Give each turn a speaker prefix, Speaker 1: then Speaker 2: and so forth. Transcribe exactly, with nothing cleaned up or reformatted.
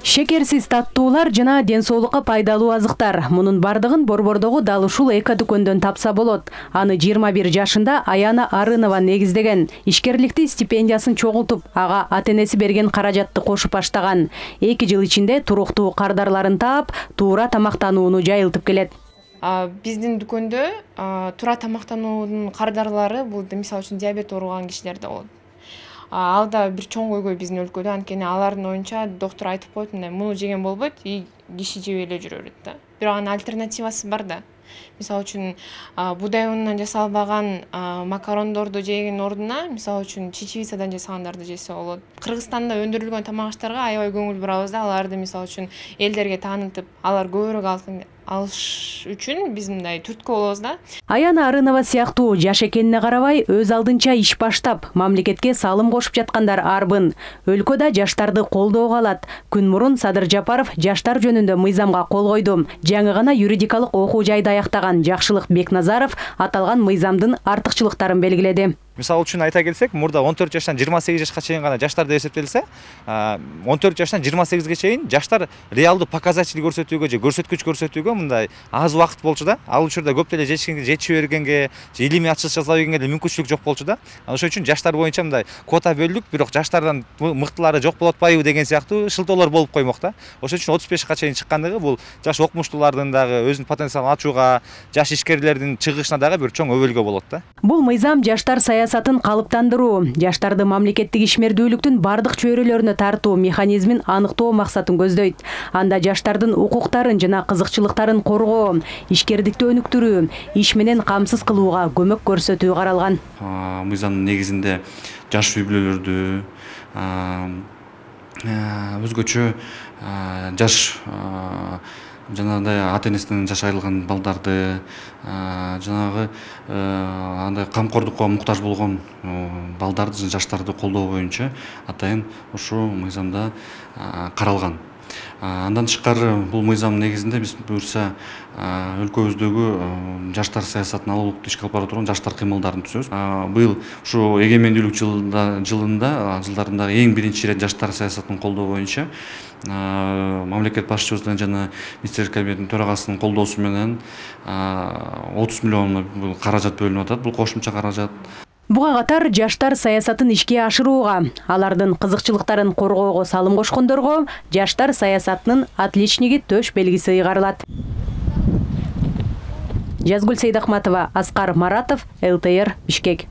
Speaker 1: Шекерсиз таттуулар жана ден соолукка пайдалуу азыктар. Мунун бардыгын Борбордогу дал ушул эко дүкөндөн тапса болот. Аны жыйырма бир жашында Аяна Арынова негиздеген. Ишкерликти стипендиясын чогултуп, ага ата-энеси берген каражатты кошуп баштаган. эки жыл ичинде туруктуу кардарларын таап, туура тамактанууну жайылтып келет.
Speaker 2: Биздин дүкөндө туура тамактануунун кардарлары бул мисалы үчүн диабет ооруган кишилерде болот. Ал да бир чоң көйгөй биздин өлкөдө, анткени алардын оюнча доктор айтып коет, мындай муну жеген болбойт, и киши жебей эле жүрө берет да. Бирок анын альтернативасы бар да. Мисалы үчүн буудай унунан жасалбаган макарондорду жеген ордуна, мисалы үчүн чечевицадан жасагандарды жесе болот. Кыргызстанда өндүрүлгөн тамак аштарга аябай көңүл бурабыз да, аларды мисалы үчүн элдерге таанытып, алар көбүрөөк алсын алыш үчүн биз мындай түрткү болобуз да.
Speaker 1: Аяна Арынова сыяктуу жаш экенине карабай, өз алдынча иш баштап, мамлекетке салым кошуп жаткандар арбын. Өлкөдө жаштарды колдоого алат. Күн мурун Садыр Жапаров жаштар жөнүндө мыйзамга кол койду. Жаңы гана юридикалык окуу жайды аяктаган Жакшылык Бекназаров аталган мыйзамдын артыкчылыктарын белгиледи.
Speaker 3: Мисалы үчүн айта келсек, мурда он төрт жаштан жыйырма сегиз жашка чейин гана жаштар деп эсептелсе, он төрт жаштан жыйырма сегизге чейин жаштар реалдуу показатель көрсөтүүгө же көрсөткүч көрсөтүүгө мындай аз убакыт болчу да. Ал учурда көп деле жетишкенге жетишип бергенге, же илимий ачылыш жасап бергенге деле мүмкүнчүлүк жок болчу да. Ошон үчүн жаштар боюнча мындай квота бөлүнүп, бирок жаштардан мыктылары жок болуп атпайбы деген сыяктуу шылтоолор болуп коймок да. Ошон үчүн отуз бешке чейин чыккандыгы бул жаш окумуштуулардын дагы өзүнүн потенциалын ачууга, жаш ишкерлердин чыгышына дагы бир чоң өбөлгө болот да.
Speaker 1: Бул мыйзам жаштар саясатын калыптан жаштарды мамлекеттик ишмердүүлүктүн бардык чөйрөлөрүнө тартуу механизмин аныктоо максатын көздөйт. Анда жаштардын укуктарын жана кызыкчылыктарын коргоо, ишкердикти өнүктүрүү, иш менен камсыз кылууга көмөк көрсөтүү каралган.
Speaker 4: Мыйзамдын негизинде жаш үй-бүлөлөрдү, өзгөчө жаш жанагындай ата-энесинен жаш айрылган балдарды, жанагы андай камкордукка муктаж болгон балдарды, жаштарды колдоо боюнча атайын ушул мыйзамда каралган. Андан тышкары бул мыйзам негизинде биз буюрса өлкөбүздөгү жаштар саясатын алуулукту ишке алып бара турган жаштар кыймылдарын түзөбүз. Быйыл ушу эгемендүүлүк жылында жылында жылдарында эң биринчи ирет жаштар саясатын колдоо боюнча мамлекет башчыбыздын жана министрлер кабинетинин төрагасынын колдоосу менен отуз миллион каражат бөлүнүп атат. Бул кошумча каражат.
Speaker 1: Буга катар жаштар саясатын ишке ашырууга, алардын кызыкчылыктарын коргоого салым кошкондорго жаштар саясатынын отличниги төш белгиси ыйгарылат. Жазгүл Сейдахматова, Аскар Маратов, эл тэ эр, Бишкек.